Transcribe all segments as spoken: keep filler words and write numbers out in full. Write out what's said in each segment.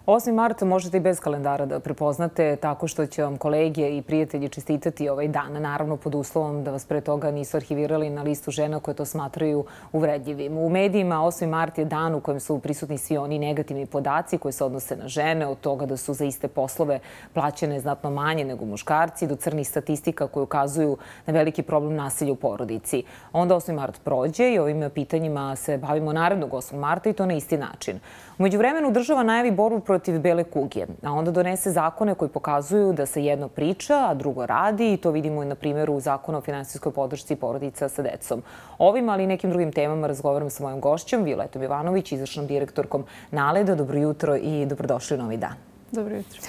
osmi mart možete i bez kalendara da prepoznate tako što će vam kolege i prijatelji čestitati ovaj dan. Naravno, pod uslovom da vas pre toga nisu arhivirali na listu žena koje to smatraju uvredljivim. U medijima osmi mart je dan u kojem su prisutni svi oni negativni podaci koji se odnose na žene, od toga da su za iste poslove plaćene znatno manje nego muškarci, do crnih statistika koje ukazuju na veliki problem nasilja u porodici. Onda osmi mart prođe i ovim pitanjima se bavimo narednog osmog marta i to na isti način. U međuvremenu država najavi borbu protiv bele kuge, a onda donese zakone koji pokazuju da se jedno priča, a drugo radi i to vidimo i na primjeru Zakona o finansijskoj podršci porodica sa decom. Ovim, ali i nekim drugim temama razgovaram sa mojom gošćom, Violetom Jovanović, izvršnom direktorkom Naleda. Dobro jutro i dobrodošli u novi dan. Dobro jutro.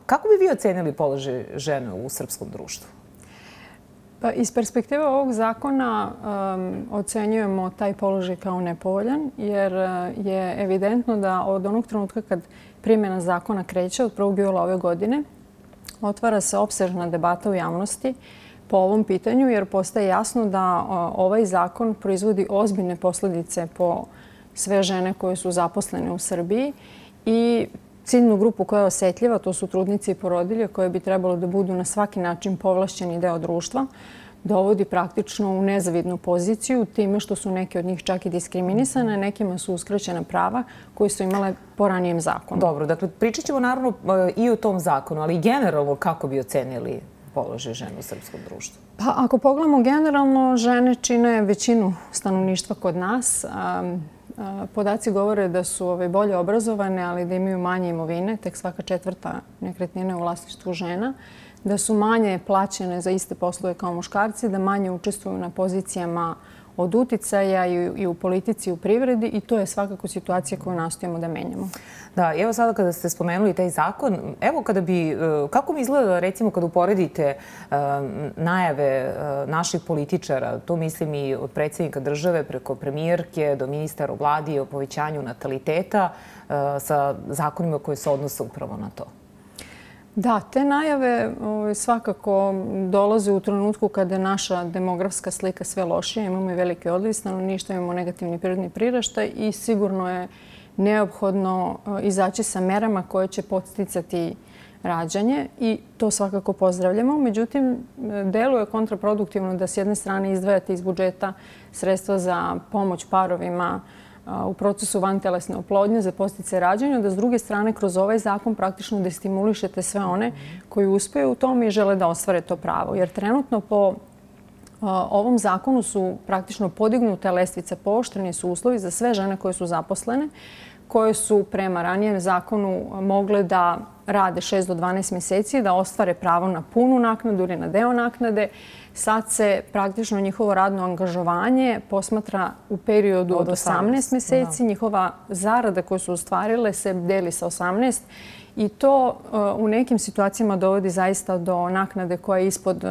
Kako bi vi ocenili položaj žena u srpskom društvu? Pa, iz perspektive ovog zakona um, ocenjujemo taj položaj kao nepovoljan, jer je evidentno da od onog trenutka kad primjena zakona kreće, od prvog jula ove godine, otvara se opsežna debata u javnosti po ovom pitanju, jer postaje jasno da uh, ovaj zakon proizvodi ozbiljne posljedice po sve žene koje su zaposlene u Srbiji i ciljnu grupu koja je osjetljiva, to su trudnice i porodilje koje bi trebalo da budu na svaki način povlašćeni deo društva, dovodi praktično u nezavidnu poziciju time što su neke od njih čak i diskriminisane, nekima su uskraćena prava koje su imale po ranijem zakonu. Dobro, dakle, pričat ćemo naravno i o tom zakonu, ali generalno kako bi ocenili položaj žena u srpskom društvu? Pa, ako pogledamo generalno, žene čine većinu stanovništva kod nas. Podaci govore da su bolje obrazovane, ali da imaju manje imovine, tek svaka četvrta nekretnina u vlasništvu žena, da su manje plaćene za iste poslove kao muškarci, da manje učestvuju na pozicijama od uticaja i u politici i u privredi i to je svakako situacija koju nastojimo da menjamo. Da, evo sada kada ste spomenuli taj zakon, evo kada bi, kako mi izgleda recimo kada uporedite najave naših političara, to mislim i od predsjednika države preko premijerke do ministara u vladi o povećanju nataliteta sa zakonima koji se odnose upravo na to? Da, te najave svakako dolaze u trenutku kada je naša demografska slika sve lošija. Imamo i velike odliv stanovništva, imamo negativni prirodni priraštaj i sigurno je neophodno izaći sa merama koje će podsticati rađanje i to svakako pozdravljamo. Međutim, deluje kontraproduktivno da s jedne strane izdvajate iz budžeta sredstva za pomoć parovima u procesu vantelesne oplodnje za podsticaj rađanja, da s druge strane kroz ovaj zakon praktično destimulišete sve one koji uspeju u tome i žele da ostvare to pravo. Jer trenutno po ovom zakonu su praktično podignute lestvice, pooštreni su uslovi za sve žene koje su zaposlene, koje su prema ranijem zakonu mogle da rade šest do dvanaest mjeseci, da ostvare pravo na punu naknadu ili na deo naknade. Sad se praktično njihovo radno angažovanje posmatra u periodu od osamnaest mjeseci. Njihova zarada koju su ostvarile se deli sa osamnaest i to u nekim situacijama dovodi zaista do naknade koja je ispod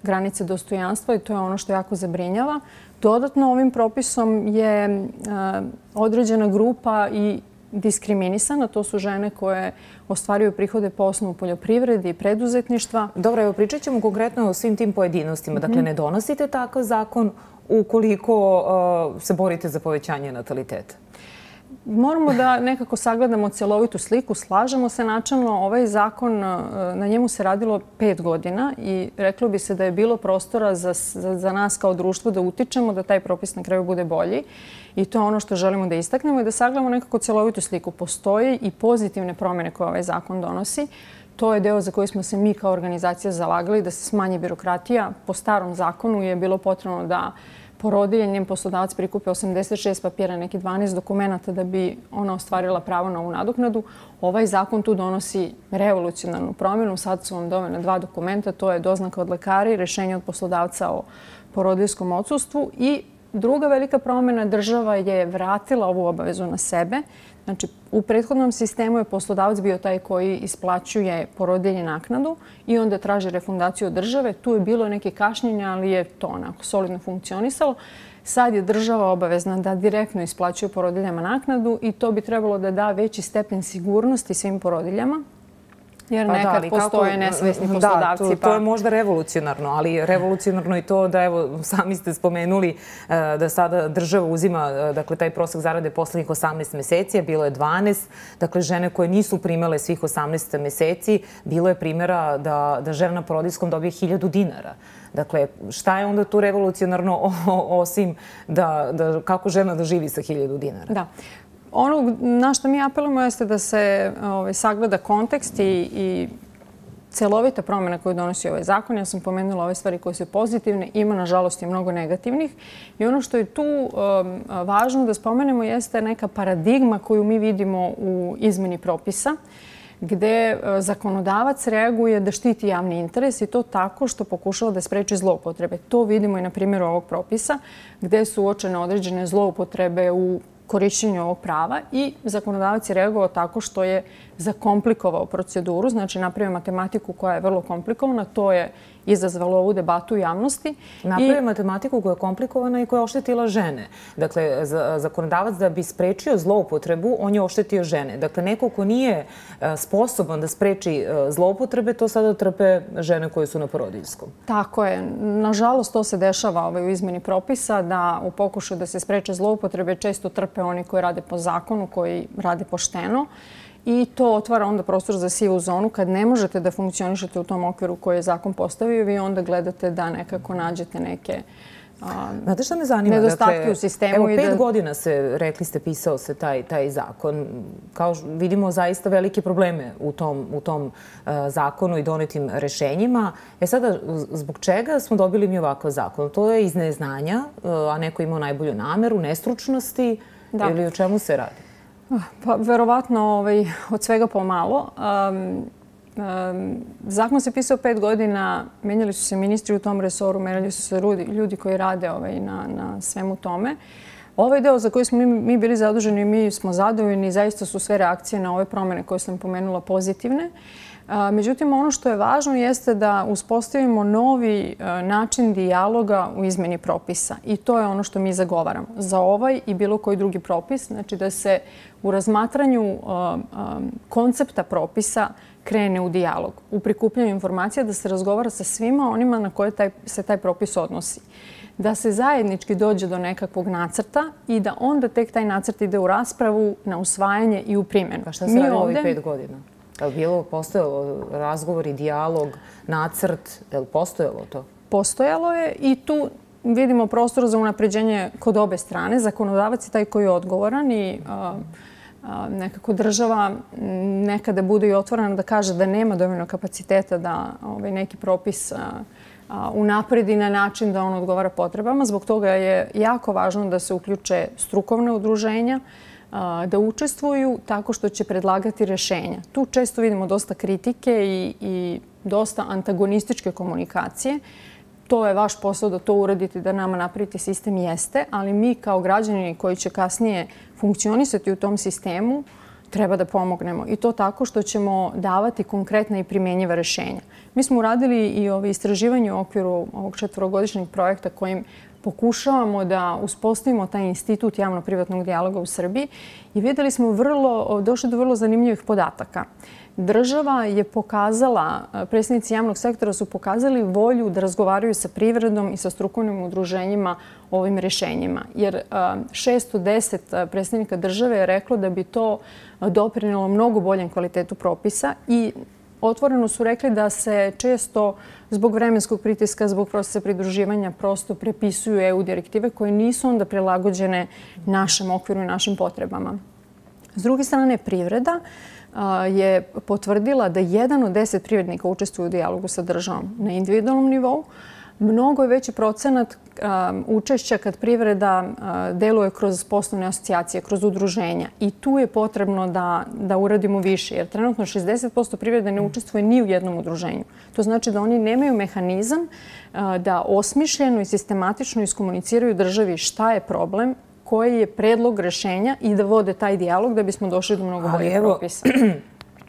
granice dostojanstva i to je ono što jako zabrinjava. Dodatno ovim propisom je određena grupa i diskriminisana. To su žene koje ostvaruju prihode po osnovu poljoprivrede i preduzetništva. Dobro, evo pričat ćemo konkretno o svim tim pojedinostima. Dakle, ne donosite takav zakon ukoliko se borite za povećanje nataliteta. Moramo da nekako sagledamo cjelovitu sliku. Slažemo se načelno. Ovaj zakon, na njemu se radilo pet godina i reklo bi se da je bilo prostora za, za, za nas kao društvo da utičemo da taj propis na kraju bude bolji. I to je ono što želimo da istaknemo i da sagledamo nekako cjelovitu sliku. Postoje i pozitivne promjene koje ovaj zakon donosi. To je deo za koji smo se mi kao organizacija zalagali, da se smanji birokratija. Po starom zakonu je bilo potrebno da porodilje, njen poslodavac prikupe osamdeset šest papira, neki dvanaest dokumenta da bi ona ostvarila pravo na ovu nadoknadu. Ovaj zakon tu donosi revolucionarnu promjenu. Sad su vam dovoljna dva dokumenta. To je doznaka od lekara i rješenje od poslodavca o porodiljskom odsustvu. I druga velika promjena, država je vratila ovu obavezu na sebe. Znači, u prethodnom sistemu je poslodavac bio taj koji isplaćuje porodilji naknadu i onda traži refundaciju od države. Tu je bilo neke kašnjenja, ali je to onako solidno funkcionisalo. Sad je država obavezna da direktno isplaćuje porodiljama naknadu i to bi trebalo da da veći stepen sigurnosti svim porodiljama. Jer nekad postoje nesvesni poslodavci. Da, to je možda revolucionarno, ali revolucionarno i to da, evo, sami ste spomenuli da sada država uzima, dakle, taj prosek zarade poslednjih osamnaest meseci, a bilo je dvanaest. Dakle, žene koje nisu primale svih osamnaest meseci, bilo je primjera da žena na porodiljskom dobije hiljadu dinara. Dakle, šta je onda tu revolucionarno osim da kako žena da živi sa hiljadu dinara? Da. Ono na što mi apelujemo jeste da se sagleda kontekst i celovita promjena koju donosi ovaj zakon. Ja sam pomenula ove stvari koje su pozitivne, ima nažalost i mnogo negativnih. I ono što je tu važno da spomenemo jeste neka paradigma koju mi vidimo u izmeni propisa, gde zakonodavac reaguje da štiti javni interes i to tako što pokušava da spreči zloupotrebe. To vidimo i na primjeru ovog propisa, gde su uočene određene zloupotrebe u korišćenju ovog prava i zakonodavac je reagovao tako što je zakomplikovao proceduru, znači napravio matematiku koja je vrlo komplikovana, to je izazvalo ovu debatu u javnosti. Napravio matematiku koja je komplikovana i koja je oštetila žene. Dakle, zakonodavac da bi sprečio zloupotrebu, on je oštetio žene. Dakle, neko ko nije sposoban da spreči zloupotrebe, to sada trpe žene koje su na porodiljskom. Tako je. Nažalost, to se dešava u izmeni propisa, da u pokušaju da se spreče zloupotrebe često trpe oni koji rade po zakonu, koji rade pošteno. I to otvara onda prostor za sivu zonu. Kad ne možete da funkcionišete u tom okviru koji je zakon postavio, vi onda gledate da nekako nađete neke Znate šta me zanima? Nedostatke u sistemu. Evo, pet godina se, rekli ste, pisao se taj zakon. Kao vidimo zaista velike probleme u tom zakonu i donetim rešenjima. E sada, zbog čega smo dobili mi ovakav zakon? To je iz neznanja, a neko imao najbolju nameru, nestručnosti ili o čemu se radi? Pa, verovatno od svega pomalo. Zakon se pisao pet godina, menjali su se ministri u tom resoru, menjali su se ljudi koji rade na svemu tome. Ovaj deo za koji smo mi bili zaduženi, mi smo zadovoljni i zaista su sve reakcije na ove promjene koje sam pomenula pozitivne. Međutim, ono što je važno jeste da uspostavimo novi način dijaloga u izmeni propisa i to je ono što mi zagovaramo za ovaj i bilo koji drugi propis. Znači da se u razmatranju koncepta propisa krene u dijalog, u prikupljanju informacija, da se razgovara sa svima onima na koje se taj propis odnosi. Da se zajednički dođe do nekakvog nacrta i da onda tek taj nacrt ide u raspravu, na usvajanje i u primjenu. Pa šta se radi ovih pet godina? Je li bilo, postojalo razgovor i dijalog, nacrt, je li postojalo to? Postojalo je i tu vidimo prostor za unapređenje kod obe strane. Zakonodavac je taj koji je odgovoran i nekako država nekada bude i otvorena da kaže da nema dovoljno kapaciteta da neki propis unapredi na način da on odgovara potrebama. Zbog toga je jako važno da se uključe strukovne udruženja, da učestvuju tako što će predlagati rešenja. Tu često vidimo dosta kritike i dosta antagonističke komunikacije. To je vaš posao da to uradite, da nama napravite sistem, jeste, ali mi kao građani koji će kasnije funkcionisati u tom sistemu treba da pomognemo. I to tako što ćemo davati konkretna i primjenjiva rešenja. Mi smo uradili i istraživanje u okviru ovog četvorogodišnjeg projekta kojim pokušavamo da uspostavimo taj institut javno-privatnog dijaloga u Srbiji i videli smo vrlo, došli do vrlo zanimljivih podataka. Država je pokazala, predstavnici javnog sektora su pokazali volju da razgovaraju sa privredom i sa strukovnim udruženjima o ovim rešenjima. Jer šesto deset predstavnika države je reklo da bi to doprinelo mnogo boljem kvalitetu propisa i otvoreno su rekli da se često zbog vremenskog pritiska, zbog procesa pridruživanja prosto prepisuju E U direktive koje nisu onda prilagođene našem okviru i našim potrebama. S druge strane, privreda je potvrdila da jedan od deset privrednika učestvuje u dijalogu sa državom na individualnom nivou. Mnogo je veći procenat učešća kad privreda deluje kroz poslovne asocijacije, kroz udruženja. I tu je potrebno da uradimo više, jer trenutno šezdeset posto privrede ne učestvuje ni u jednom udruženju. To znači da oni nemaju mehanizam da osmišljeno i sistematično iskomuniciraju državi šta je problem, koji je predlog rešenja i da vode taj dijalog da bismo došli do mnogo boljih propisa.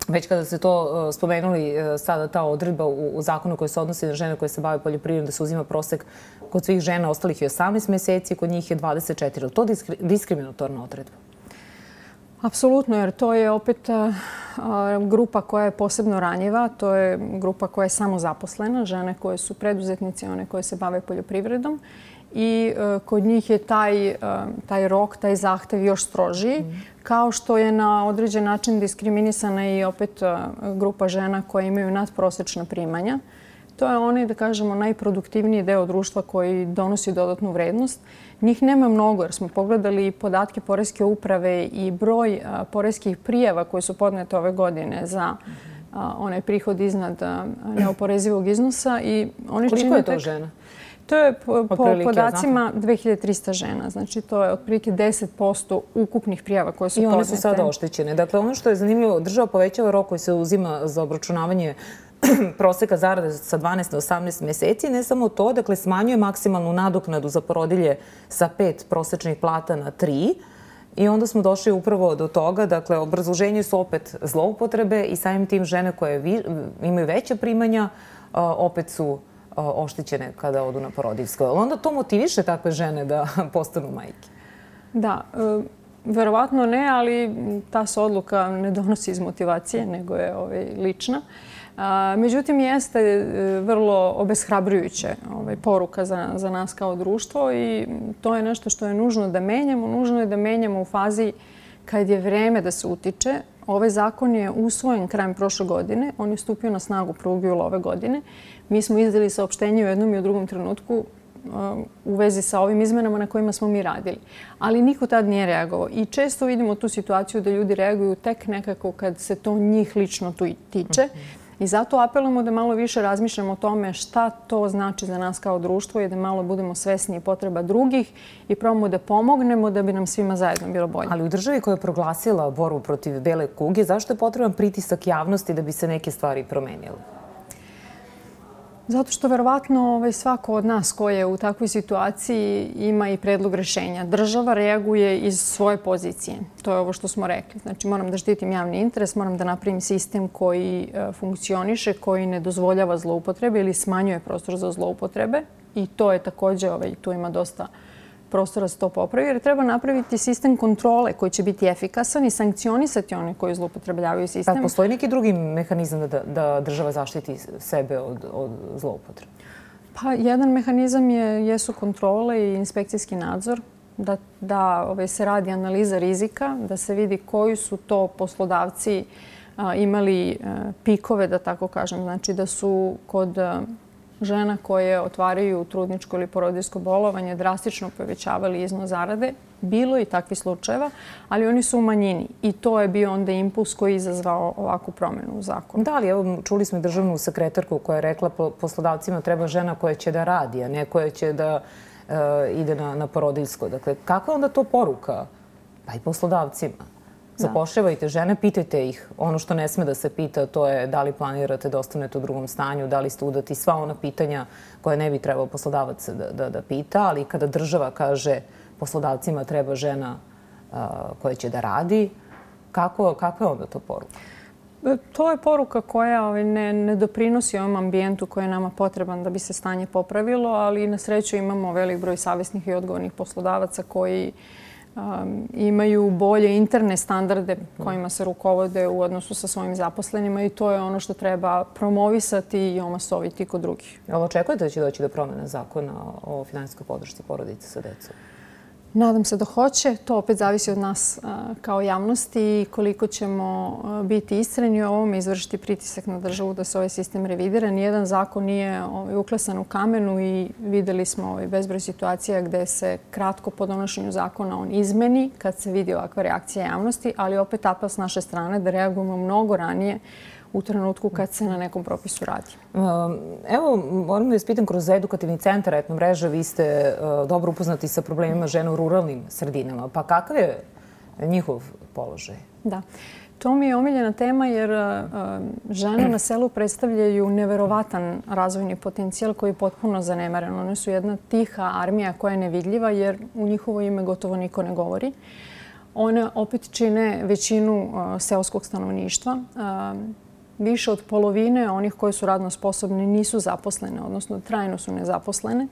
Već kada ste to spomenuli, sada ta odredba u zakonu koji se odnosi na žene koje se bave poljoprivredom, da se uzima prosek kod svih žena, ostalih je osamnaest meseci, kod njih je dvadeset četiri. Je li to diskriminatorna odredba? Apsolutno, jer to je opet grupa koja je posebno ranjiva. To je grupa koja je samozaposlena, žene koje su preduzetnici, one koje se bave poljoprivredom. I kod njih je taj, taj rok, taj zahtev još strožiji, mm. kao što je na određen način diskriminisana i opet grupa žena koje imaju nadprosečna primanja. To je onaj, da kažemo, najproduktivniji deo društva koji donosi dodatnu vrednost. Njih nema mnogo jer smo pogledali podatke Poreske uprave i broj poreskih prijava koje su podnete ove godine za onaj prihod iznad neoporezivog iznosa. I oni Koliko je to tek... žena? To je po, po podacima dve hiljade trista žena. Znači, to je otprilike deset posto ukupnih prijava koje su podnete. I one su sada oštećene. Dakle, ono što je zanimljivo, država povećava rok koji se uzima za obračunavanje proseka zarade sa dvanaest na osamnaest mjeseci. Ne samo to, dakle, smanjuje maksimalnu nadoknadu za porodilje sa pet prosečnih plata na tri. I onda smo došli upravo do toga, dakle, obrazloženje su opet zloupotrebe i samim tim žene koje vi, imaju veća primanja opet su oštećene kada odu na porodiljsko. Ali onda to motiviše takve žene da postanu majke? Da, verovatno ne, ali ta se odluka ne donosi iz motivacije, nego je ovaj, lična. Međutim, jeste vrlo obeshrabrujuće ovaj, poruka za, za nas kao društvo i to je nešto što je nužno da menjamo. Nužno je da menjamo u fazi kad je vreme da se utiče. Ovaj zakon je usvojen krajem prošle godine. On je stupio na snagu prvog jula ove godine. Mi smo izdali saopštenje u jednom i u drugom trenutku u vezi sa ovim izmenama na kojima smo mi radili. Ali niko tad nije reagovao. I često vidimo tu situaciju da ljudi reaguju tek nekako kad se to njih lično tu tiče. I zato apelujemo da malo više razmišljamo o tome šta to znači za nas kao društvo i da malo budemo svesni potreba drugih i probamo da pomognemo da bi nam svima zajedno bilo bolje. Ali u državi koja je proglasila borbu protiv bele kuge, zašto je potreban pritisak javnosti da bi se neke stvari promenile? Zato što verovatno ovaj, svako od nas koji je u takvoj situaciji ima i predlog rešenja. Država reaguje iz svoje pozicije. To je ovo što smo rekli. Znači, moram da štitim javni interes, moram da napravim sistem koji e, funkcioniše, koji ne dozvoljava zloupotrebe ili smanjuje prostor za zloupotrebe. I to je također, ovaj, tu ima dosta prostora se to popravi, jer treba napraviti sistem kontrole koji će biti efikasan i sankcionisati one koji zloupotrebljavaju sistem. Pa postoji neki drugi mehanizam da, da država zaštiti sebe od, od zloupotrebe? Pa jedan mehanizam je, jesu kontrole i inspekcijski nadzor, da, da ovaj, se radi analiza rizika, da se vidi koji su to poslodavci a, imali a, pikove, da tako kažem, znači da su kod a, žena koje otvaraju trudničko ili porodiljsko bolovanje drastično povećavali iznos zarade. Bilo je i takvih slučajeva, ali oni su u manjini. I to je bio onda impuls koji je izazvao ovakvu promjenu u zakonu. Da, ali evo, čuli smo i državnu sekretarku koja je rekla poslodavcima treba žena koja će da radi, a ne koja će da uh, ide na, na porodiljsko. Dakle, kakva je onda to poruka? Pa i poslodavcima. Zapošljavajte žene, pitajte ih. Ono što ne sme da se pita, to je da li planirate da ostanete u drugom stanju, da li ste udati, sva ona pitanja koje ne bi trebao poslodavac da, da, da pita. Ali kada država kaže poslodavcima treba žena uh, koja će da radi, kako, kakva je onda to poruka? To je poruka koja ne, ne doprinosi ovom ambijentu koji je nama potreban da bi se stanje popravilo, ali na sreću imamo velik broj savjesnih i odgovornih poslodavaca koji Um, imaju bolje interne standarde kojima se rukovode u odnosu sa svojim zaposlenima i to je ono što treba promovisati i omasoviti kod drugih. Ali očekujete da će doći do promjene zakona o finansijskoj podršci porodice sa decom? Nadam se da hoće. To opet zavisi od nas kao javnosti i koliko ćemo biti istreni u ovome, izvršiti pritisak na državu da se ovaj sistem revidira. Nijedan zakon nije uklesan u kamenu i videli smo bezbroj situacija gde se kratko po donošenju zakona on izmeni kad se vidi ovakva reakcija javnosti, ali opet apel s naše strane da reagujemo mnogo ranije u trenutku kad se na nekom propisu radi. Evo, moram da vas pitam, kroz edukativni centar Etno mreža vi ste dobro upoznati sa problemima žena u ruralnim sredinama. Pa kakav je njihov položaj? Da. To mi je omiljena tema jer žene na selu predstavljaju neverovatan razvojni potencijal koji je potpuno zanemaren. One su jedna tiha armija koja je nevidljiva jer u njihovo ime gotovo niko ne govori. One opet čine većinu seoskog stanovništva. Više od polovine onih koji su radno sposobni nisu zaposlene, odnosno trajno su nezaposlene.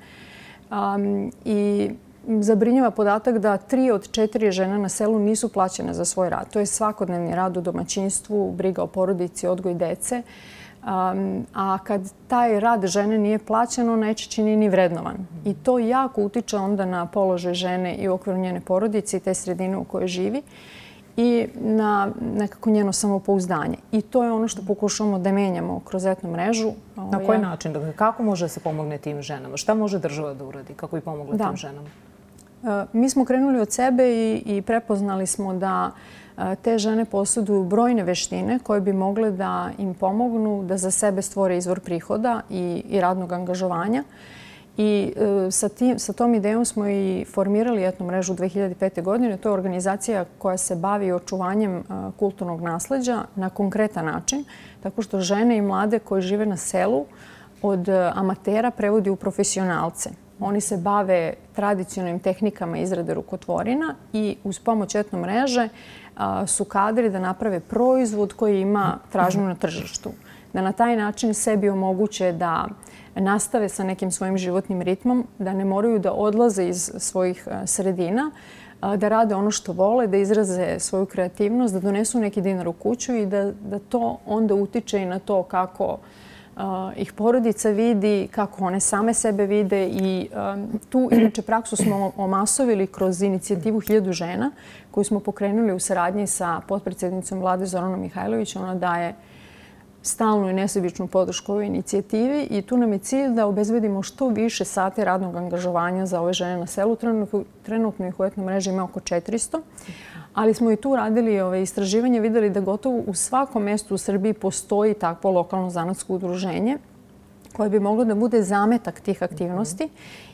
Um, I zabrinjava podatak da tri od četiri žena na selu nisu plaćene za svoj rad. To je svakodnevni rad u domaćinstvu, briga o porodici, odgoj dece. A kad taj rad žene nije plaćen, on najčešće nije ni vrednovan. I to jako utiče onda na položaj žene i u okviru njene porodice i te sredine u kojoj živi i na nekako njeno samopouzdanje. I to je ono što pokušavamo da menjamo kroz etno mrežu. Na koji način? Kako može da se pomogne tim ženama? Šta može država da uradi? Kako bi pomogla tim ženama? Mi smo krenuli od sebe i prepoznali smo da te žene posjeduju brojne veštine koje bi mogle da im pomognu da za sebe stvore izvor prihoda i radnog angažovanja. I sa tom idejom smo i formirali etnu mrežu dve hiljade pete. godine. To je organizacija koja se bavi očuvanjem kulturnog nasleđa na konkretan način, tako što žene i mlade koji žive na selu od amatera prevodi u profesionalce. Oni se bave tradicionalnim tehnikama izrade rukotvorina i uz pomoć etno mreže su kadri da naprave proizvod koji ima tražnju na tržištu. Da na taj način sebi omoguće da nastave sa nekim svojim životnim ritmom, da ne moraju da odlaze iz svojih sredina, da rade ono što vole, da izraze svoju kreativnost, da donesu neki dinar u kuću i da to onda utiče i na to kako ih porodica vidi, kako one same sebe vide. I tu inače praksu smo omasovili kroz inicijativu Hiljadu žena koju smo pokrenuli u saradnji sa potpredsjednicom Vlade Zoranom Mihajlović. Ona daje stalnu i nesebičnu podršku ovoj inicijativi i tu nam je cilj da obezbedimo što više sati radnog angažovanja za ove žene na selu. Trenutno ih u etno mreži ima oko četiristo, ali smo i tu radili istraživanje, videli da gotovo u svakom mestu u Srbiji postoji takvo lokalno zanatsko udruženje koje bi moglo da bude zametak tih aktivnosti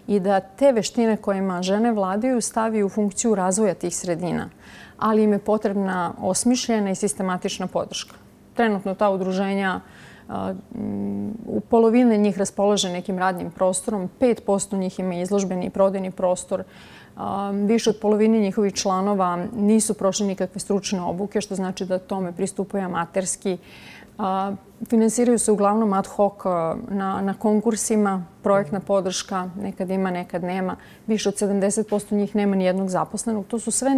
i da te veštine kojima žene vladaju stavi u funkciju razvoja tih sredina, ali im je potrebna osmišljena i sistematična podrška. Trenutno ta udruženja, u polovine njih raspolaže nekim radnim prostorom, pet posto njih ima izložbeni i prodajni prostor, više od polovine njihovih članova nisu prošli nikakve stručne obuke, što znači da tome pristupaju amaterski. Finansiraju se uglavnom ad hoc na konkursima, projektna podrška, nekad ima, nekad nema. Više od sedamdeset posto njih nema ni jednog zaposlenog. To su sve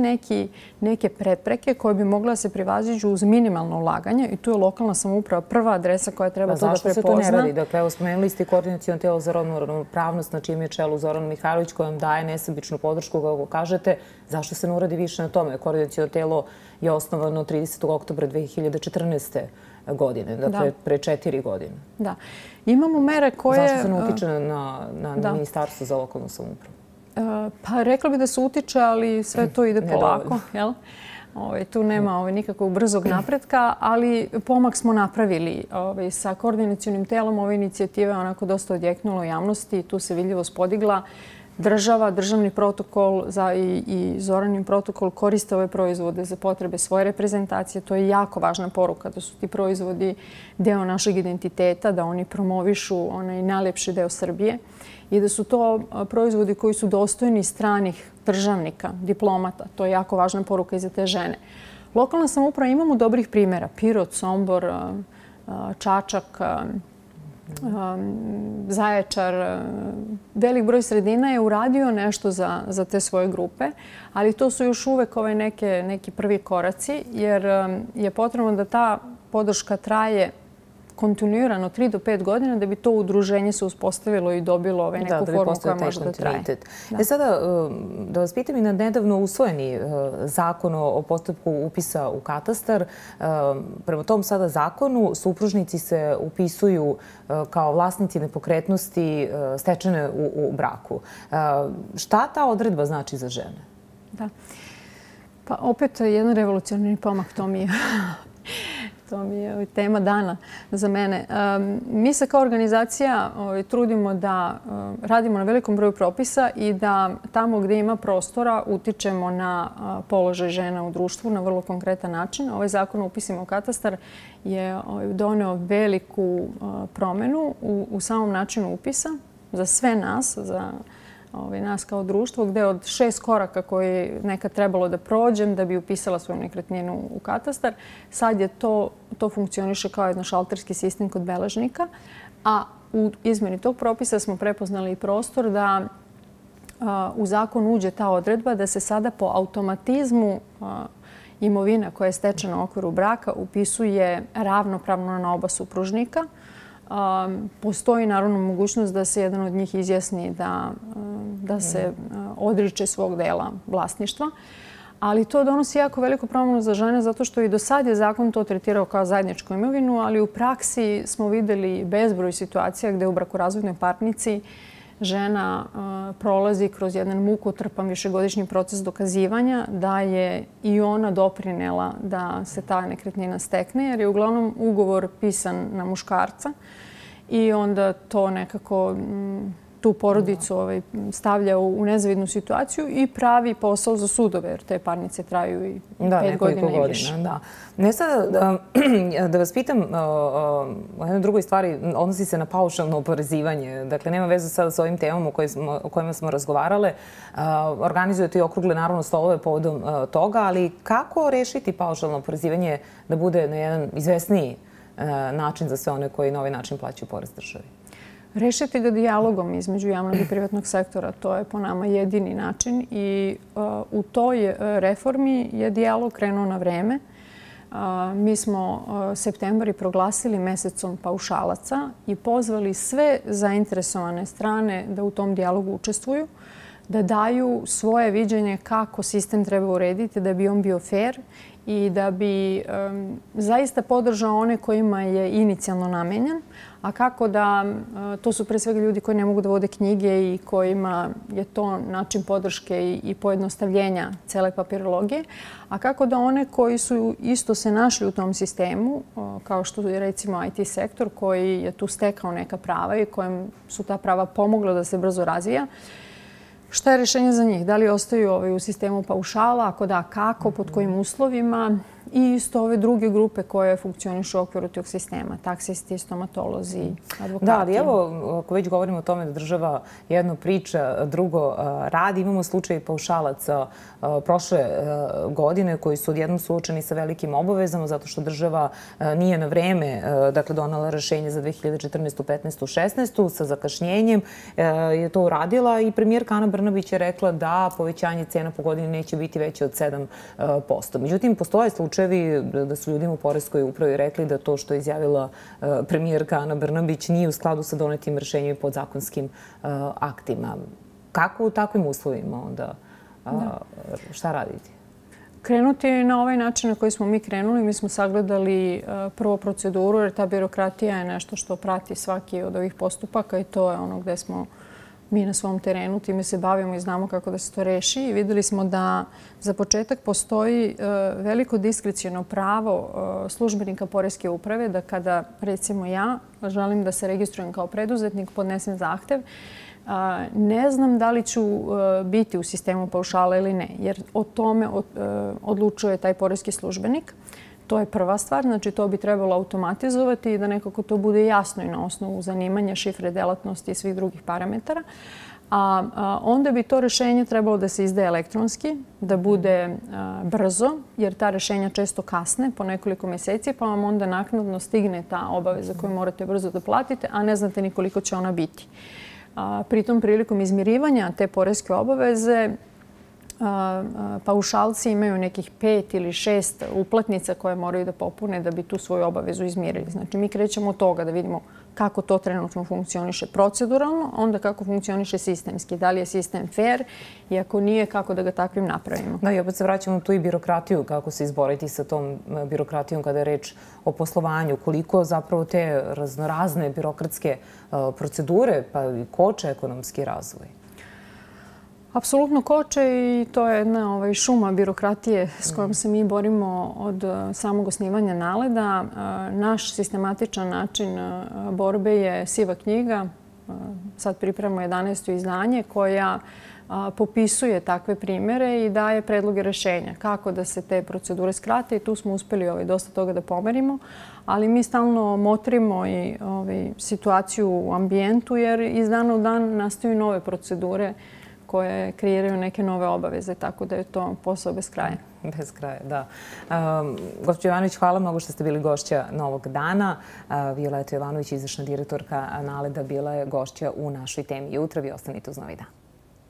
neke prepreke koje bi mogla da se prevaziđu uz minimalno ulaganje i tu je lokalna samouprava prva adresa koja treba to da prepozna. Zašto se to ne radi? Dakle, evo, spomenuli ste Koordinaciono telo za rodnu ravnopravnost, na čijem je čelu Zoran Mihajlović, koja vam daje nesebičnu podršku, kako kažete. Zašto se ne uradi više na tome? Koordinaciono telo je osnovano tridesetog oktobra dve hiljade četrnaeste. godine, dakle pre četiri godine. Da. Imamo mere koje... Zašto se ne utiče na Ministarstvo za lokalnu samoupravu? Pa rekla bi da se utiče, ali sve to ide polako. Tu nema nikakvog brzog napretka, ali pomak smo napravili. Sa koordinacionim telom ove inicijative je onako dosta odjeknulo u javnosti i tu se vidljivost podigla. Država, državni protokol i Zoranin protokol koriste ove proizvode za potrebe svoje reprezentacije. To je jako važna poruka da su ti proizvodi deo našeg identiteta, da oni promovišu onaj najlepši deo Srbije i da su to proizvodi koji su dostojni stranih državnika, diplomata. To je jako važna poruka i za te žene. Lokalna samouprava, imamo dobrih primjera. Pirot, Sombor, Čačak, Zaječar, velik broj sredina je uradio nešto za te svoje grupe, ali to su još uvek neki prvi koraci jer je potrebno da ta podrška traje kontinuirano tri do pet godina da bi to udruženje se uspostavilo i dobilo neku formu koja može da traje. E sada, da vas pitam i na nedavno usvojeni zakon o postupku upisa u katastar. Prema tom sada zakonu supružnici se upisuju kao vlasnici nepokretnosti stečene u braku. Šta ta odredba znači za žene? Da. Pa opet jedan revolucionarni pomak, to mi je... To mi je tema dana za mene. Mi se kao organizacija trudimo da radimo na velikom broju propisa i da tamo gdje ima prostora utičemo na položaj žena u društvu na vrlo konkretan način. Ovaj zakon o upisima u katastar je doneo veliku promjenu u samom načinu upisa za sve nas, za nas kao društvo, gde od šest koraka koje nekad trebalo da prođem da bi upisala svoju nekretninu u katastar, sad je to, to funkcioniše kao jedan šalterski sistem kod beležnika, a u izmeni tog propisa smo prepoznali i prostor da u zakon uđe ta odredba da se sada po automatizmu imovina koja je stečena u okviru braka upisuje ravnopravno na oba supružnika. Postoji naravno mogućnost da se jedan od njih izjasni da, da se odriče svog dela vlasništva. Ali to donosi jako veliku promjenu za žene zato što i do sad je zakon to tretirao kao zajedničku imovinu, ali u praksi smo vidjeli bezbroj situacija gdje u brakorazvodnoj parnici žena prolazi kroz jedan mukotrpan višegodišnji proces dokazivanja da je i ona doprinela da se ta nekretnina stekne, jer je uglavnom ugovor pisan na muškarca i onda to nekako tu porodicu stavlja u nezavidnu situaciju i pravi posao za sudove, jer te parnice traju i pet godina i više. Da. Ne sad da vas pitam o jednoj drugoj stvari, odnosi se na paušalno oporezivanje. Dakle, nema veze sada s ovim temom o kojima smo razgovarale. Organizujete i okrugle naravno stolove povodom toga, ali kako rešiti paušalno oporezivanje da bude na jedan izvesniji način za sve one koji na ovaj način plaćaju porez državi? Rešiti ga dijalogom između javnog i privatnog sektora, to je po nama jedini način i u toj reformi je dijalog krenuo na vreme. Mi smo septembar i proglasili mesecom paušalaca i pozvali sve zainteresovane strane da u tom dijalogu učestvuju, da daju svoje viđenje kako sistem treba urediti da bi on bio fair i da bi um, zaista podržao one kojima je inicijalno namenjen, a kako da, uh, to su pre svega ljudi koji ne mogu da vode knjige i kojima je to način podrške i, i pojednostavljenja cele papirologije, a kako da one koji su isto se našli u tom sistemu, uh, kao što je recimo I T sektor koji je tu stekao neka prava i kojem su ta prava pomogla da se brzo razvija, šta je rješenje za njih? Da li ostaju u sistemu paušala? Ako da, kako? Pod kojim uslovima? I isto ove druge grupe koje funkcionišu u okviru tog sistema. Taksisti, stomatolozi, advokati. Da, ali evo, ako već govorimo o tome da država jedno priča, drugo radi, imamo slučaj paušalaca prošle godine koji su odjednom suočeni sa velikim obavezama zato što država nije na vreme donala rešenje za dve hiljade četrnaestu, petnaestu, šesnaestu sa zakašnjenjem. Je to uradila i premijerka Ana Brnabić je rekla da povećanje cena po godini neće biti veće od sedam posto. Međutim, postoje slučajevi da su ljudima u poreskoj upravi rekli da to što je izjavila premijerka Ana Brnabić nije u skladu sa donetim rešenjem i podzakonskim aktima. Kako u takvim uslovima onda? Šta raditi? Krenuti na ovaj način na koji smo mi krenuli. Mi smo sagledali prvo proceduru, jer ta birokratija je nešto što prati svaki od ovih postupaka i to je ono gde smo mi na svom terenu, time se bavimo i znamo kako da se to reši. I videli smo da za početak postoji veliko diskrecijono pravo službenika poreske uprave da kada, recimo ja, želim da se registrujem kao preduzetnik, podnesem zahtev, ne znam da li ću biti u sistemu paušala ili ne, jer o tome odlučuje taj poreski službenik. To je prva stvar, znači to bi trebalo automatizovati i da nekako to bude jasno i na osnovu zanimanja, šifre, delatnosti i svih drugih parametara. A onda bi to rešenje trebalo da se izdaje elektronski, da bude brzo, jer ta rešenja često kasne po nekoliko meseci, pa vam onda naknadno stigne ta obaveza koju morate brzo da platite, a ne znate ni koliko će ona biti. Pritom, prilikom izmirivanja te poreske obaveze, paušalci imaju nekih pet ili šest uplatnica koje moraju da popune da bi tu svoju obavezu izmirili. Znači, mi krećemo od toga da vidimo kako to trenutno funkcioniše proceduralno, onda kako funkcioniše sistemski. Da li je sistem fair i ako nije, kako da ga takvim napravimo. Da, i opet se vraćamo tu i birokratiju, kako se izboriti sa tom birokratijom kada je reč o poslovanju. Koliko zapravo te raznorazne birokratske procedure pa i koče ekonomski razvoj? Apsolutno koče i to je jedna šuma birokratije s kojom se mi borimo od samog osnivanja Naleda. Naš sistematičan način borbe je siva knjiga. Sad pripremamo jedanaesto izdanje koja popisuje takve primere i daje predloge rešenja kako da se te procedure skrate i tu smo uspeli dosta toga da pomerimo. Ali mi stalno motrimo i situaciju u ambijentu jer iz dana u dan nastaju nove procedure koje kreiraju neke nove obaveze, tako da je to posao bez kraja. Bez kraja, da. Gospođo Jovanović, hvala mnogo što ste bili gošća novog dana. Violeta Jovanović, izvršna direktorka Naleda, bila je gošća u našoj temi jutra. Vi ostanite uz Novi dan.